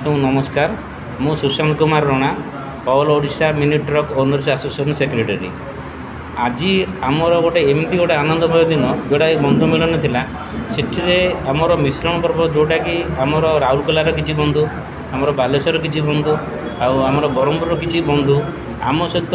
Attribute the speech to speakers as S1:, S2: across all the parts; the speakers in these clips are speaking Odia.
S1: ସମସ୍ତଙ୍କୁ ନମସ୍କାର। ମୁଁ Sushant Kumar Rana, All Odisha Mini Truck Owners Association Secretary। ଆଜି ଆମର ଗୋଟେ ଏମିତି ଗୋଟେ ଆନନ୍ଦମୟ ଦିନ, ଯେଉଁଟାକି ବନ୍ଧୁ ମିଳନ ଥିଲା। ସେଠିରେ ଆମର ମିଶ୍ରଣ ପର୍ବ, ଯେଉଁଟାକି ଆମର ରାଉରକେଲାର କିଛି ବନ୍ଧୁ, ଆମର ବାଲେଶ୍ୱର କିଛି ବନ୍ଧୁ ଆଉ ଆମର ବ୍ରହ୍ମପୁରର କିଛି ବନ୍ଧୁ ଆମ ସହିତ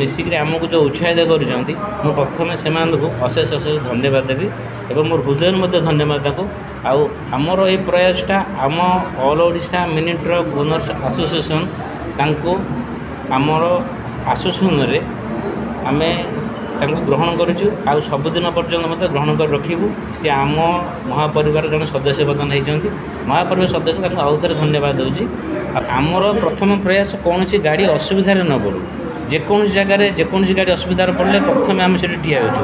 S1: ମିଶିକିରି ଆମକୁ ଯେଉଁ ଉତ୍ସାହିତ କରୁଛନ୍ତି, ମୁଁ ପ୍ରଥମେ ସେମାନଙ୍କୁ ଅଶେଷ ଅଶେଷ ଧନ୍ୟବାଦ ଦେବି ଏବଂ ମୋର ହୃଦୟରୁ ମଧ୍ୟ ଧନ୍ୟବାଦ ତାଙ୍କୁ। ଆଉ ଆମର ଏଇ ପ୍ରୟାସଟା ଆମ All Odisha Mini Truck Owners Association ତାଙ୍କୁ ଆମର ଆସୋସିଏସନ୍ରେ ଆମେ ତାଙ୍କୁ ଗ୍ରହଣ କରିଛୁ ଆଉ ସବୁଦିନ ପର୍ଯ୍ୟନ୍ତ ମଧ୍ୟ ଗ୍ରହଣ କରି ରଖିବୁ। ସିଏ ଆମ ମହାପରିବାର ଜଣେ ସଦସ୍ୟ ବର୍ତ୍ତମାନ ହେଇଛନ୍ତି। ମହାପରିବାର ସଦସ୍ୟ, ତାଙ୍କୁ ଆଉ ଥରେ ଧନ୍ୟବାଦ ଦେଉଛି। ଆଉ ଆମର ପ୍ରଥମ ପ୍ରୟାସ, କୌଣସି ଗାଡ଼ି ଅସୁବିଧାରେ ନ ପଡ଼ୁ। ଯେକୌଣସି ଜାଗାରେ ଯେକୌଣସି ଗାଡ଼ି ଅସୁବିଧାରେ ପଡ଼ିଲେ ପ୍ରଥମେ ଆମେ ସେଠି ଠିଆ ହେଉଛୁ।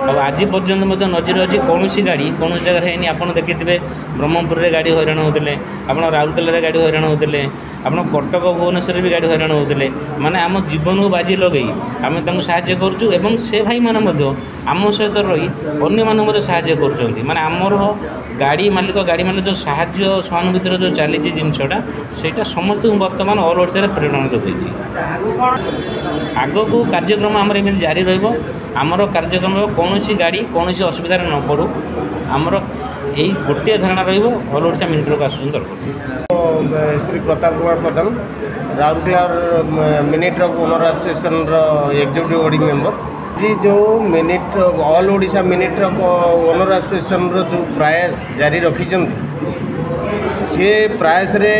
S1: ଆଉ ଆଜି ପର୍ଯ୍ୟନ୍ତ ମଧ୍ୟ ନଜିର ଅଛି, କୌଣସି ଗାଡ଼ି କୌଣସି ଜାଗାରେ ହେଇନି। ଆପଣ ଦେଖିଥିବେ, ବ୍ରହ୍ମପୁରରେ ଗାଡ଼ି ହଇରାଣ ହେଉଥିଲେ, ଆପଣ ରାଉରକେଲାରେ ଗାଡ଼ି ହଇରାଣ ହେଉଥିଲେ, ଆପଣ କଟକ ଭୁବନେଶ୍ୱରରେ ବି ଗାଡ଼ି ହଇରାଣ ହେଉଥିଲେ। ମାନେ ଆମ ଜୀବନକୁ ବାଜି ଲଗେଇ ଆମେ ତାଙ୍କୁ ସାହାଯ୍ୟ କରୁଛୁ ଏବଂ ସେ ଭାଇମାନେ ମଧ୍ୟ ଆମ ସହିତ ରହି ଅନ୍ୟମାନଙ୍କୁ ମଧ୍ୟ ସାହାଯ୍ୟ କରୁଛନ୍ତି। ମାନେ ଆମର ଗାଡ଼ି ମାଲିକ ଯେଉଁ ସାହାଯ୍ୟ ସହାନୁଭୂତିର ଯେଉଁ ଚାଲିଛି ଜିନିଷଟା, ସେଇଟା ସମସ୍ତଙ୍କୁ ବର୍ତ୍ତମାନ ଅଲ୍ ଓଡ଼ିଶାରେ ପ୍ରେରଣା ଯୋଗାଇଛି। ଆଗକୁ କାର୍ଯ୍ୟକ୍ରମ ଆମର ଏମିତି ଜାରି ରହିବ। ଆମର କାର୍ଯ୍ୟକ୍ରମ, କୌଣସି ଗାଡ଼ି କୌଣସି ଅସୁବିଧାରେ ନ ପଡ଼ୁ, ଆମର ଏଇ ଗୋଟିଏ ଧାରଣା ରହିବ all Odisha mini truck association ତରଫରୁ।
S2: ଶ୍ରୀ ପ୍ରତାପ କୁମାର ପ୍ରଧାନ, ରାଉରକେଲାର ମିନି ଟ୍ରକ୍ ଓନର୍ ଆସୋସିଏସନ୍ର ଏକ୍ଜିକ୍ୟୁଟିଭ୍ ବଡ଼ି ମେମ୍ବର। ଆଜି ଯେଉଁ mini All Odisha Mini Truck Owner ଆସୋସିଏସନ୍ର ଯେଉଁ ପ୍ରୟାସ ଜାରି ରଖିଛନ୍ତି, ସେ ପ୍ରୟାସରେ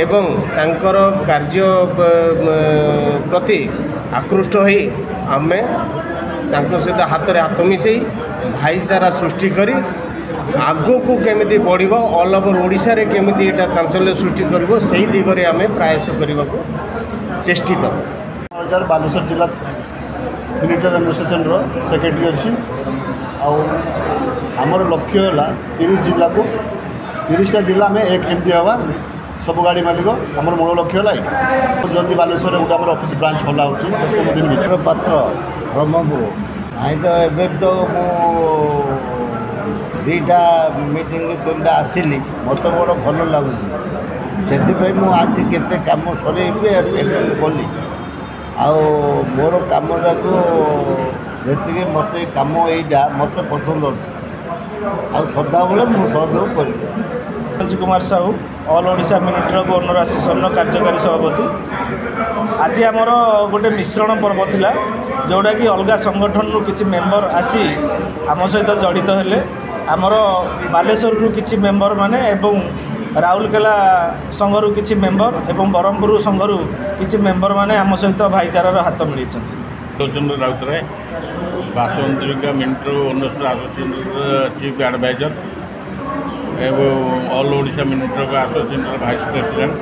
S2: ଏବଂ ତାଙ୍କର କାର୍ଯ୍ୟ ପ୍ରତି ଆକୃଷ୍ଟ ହୋଇ ଆମେ ତାଙ୍କ ସହିତ ହାତରେ ହାତ ମିଶାଇ ଭାଇଚାରା ସୃଷ୍ଟି କରି ଆଗକୁ କେମିତି ବଢ଼ିବ, ଅଲ୍ ଓଭର୍ ଓଡ଼ିଶାରେ କେମିତି ଏଇଟା ଚାଞ୍ଚଲ୍ୟ ସୃଷ୍ଟି କରିବ, ସେଇ ଦିଗରେ ଆମେ ପ୍ରୟାସ କରିବାକୁ ଚେଷ୍ଟିତ।
S3: ହଜାର ବାଲେଶ୍ୱର ଜିଲ୍ଲା ମିନି ଟ୍ରକ୍ ଆସୋସିଏସନ୍ର ସେକ୍ରେଟାରୀ ଅଛି। ଆଉ ଆମର ଲକ୍ଷ୍ୟ ହେଲା 30 ଜିଲ୍ଲାକୁ, 30ଟା ଜିଲ୍ଲା ଆମେ ଏକ କେମିତି ହେବା ସବୁ ଗାଡ଼ି ମାଲିକ, ଆମର ମୂଳ ଲକ୍ଷ୍ୟ ହେଲା ଏଇଟା। ଜଲ୍ଦି ବାଲେଶ୍ୱରରେ ଗୋଟେ ଆମର ଅଫିସ୍ ବ୍ରାଞ୍ଚ ଖୋଲା ହେଉଛି 10-15 ଦିନ ଭିତରେ।
S4: ପାତ୍ର, ବ୍ରହ୍ମପୁର। ନାଇଁ ତ, ଏବେ ତ ମୁଁ ଦୁଇଟା ମିଟିଂ, ତିନିଟା ଆସିଲି, ମୋତେ ବଡ଼ ଭଲ ଲାଗୁଛି। ସେଥିପାଇଁ ମୁଁ ଆଜି କେତେ କାମ ସରେଇବି ଏବେ କଲି। ଆଉ ମୋର କାମ ଯାକ ଯେତିକି ମୋତେ କାମ ଏଇଟା ମୋତେ ପସନ୍ଦ ଅଛି ଆଉ ସଦାବେଳେ ମୁଁ ସହଯୋଗ କରିବି।
S5: Manoj Kumar Sahu, All Odisha Mini Truck Owner ଆସୋସିଏସନ୍ର କାର୍ଯ୍ୟକାରୀ ସଭାପତି। ଆଜି ଆମର ଗୋଟେ ମିଶ୍ରଣ ପର୍ବ ଥିଲା, ଯେଉଁଟାକି ଅଲଗା ସଂଗଠନରୁ କିଛି ମେମ୍ବର ଆସି ଆମ ସହିତ ଜଡ଼ିତ ହେଲେ। ଆମର ବାଲେଶ୍ୱରରୁ କିଛି ମେମ୍ବର ମାନେ ଏବଂ ରାଉରକେଲା ସଂଘରୁ କିଛି ମେମ୍ବର ଏବଂ ବ୍ରହ୍ମପୁର ସଂଘରୁ କିଛି ମେମ୍ବର ମାନେ ଆମ ସହିତ ଭାଇଚାରାର ହାତ ମିଳାଇଛନ୍ତି।
S6: Chandra Routray, Basantika mini truck owners ଆସୋସିଏସନ୍ର ଚିଫ୍ ଆଡ଼ଭାଇଜର ଏବଂ ଅଲ୍ ଓଡ଼ିଶା ମିନି ଟ୍ରକ୍ ଆସୋସିଏସନ୍ର ଭାଇସ୍ ପ୍ରେସିଡେଣ୍ଟ।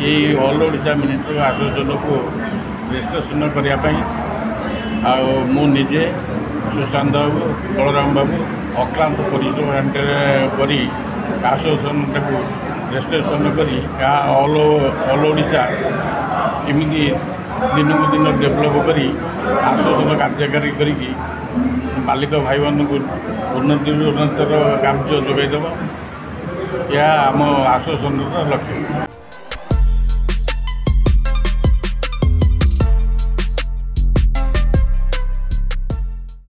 S6: ଏଇ ଅଲ୍ ଓଡ଼ିଶା ମିନି ଟ୍ରକ୍ ଆସୋସିଏସନ୍କୁ ରେଜିଷ୍ଟ୍ରେସନ୍ କରିବା ପାଇଁ ଆଉ ମୁଁ ନିଜେ, ସୁଶାନ୍ତ ବାବୁ, ବଳରାମ ବାବୁ ଅକ୍ଳାନ୍ତ ପରିଶ୍ରମ କରି ଆସୋସିଏସନ୍ଟାକୁ ରେଜିଷ୍ଟ୍ରେସନ୍ କରି ଏହା ଅଲ୍ ଓଡ଼ିଶା ଏମିତି ଦିନକୁ ଦିନ ଡେଭଲପ୍ କରି ଆସୋସିଏସନ୍ କାର୍ଯ୍ୟକାରୀ କରିକି ମାଲିକ ଭାଇମାନଙ୍କୁ ଉନ୍ନତିରୁ ଉନ୍ନତର କାର୍ଯ୍ୟ ଯୋଗାଇ ଦେବ, ଏହା ଆମ ଆସୋସିଏସନ୍ର ଲକ୍ଷ୍ୟ।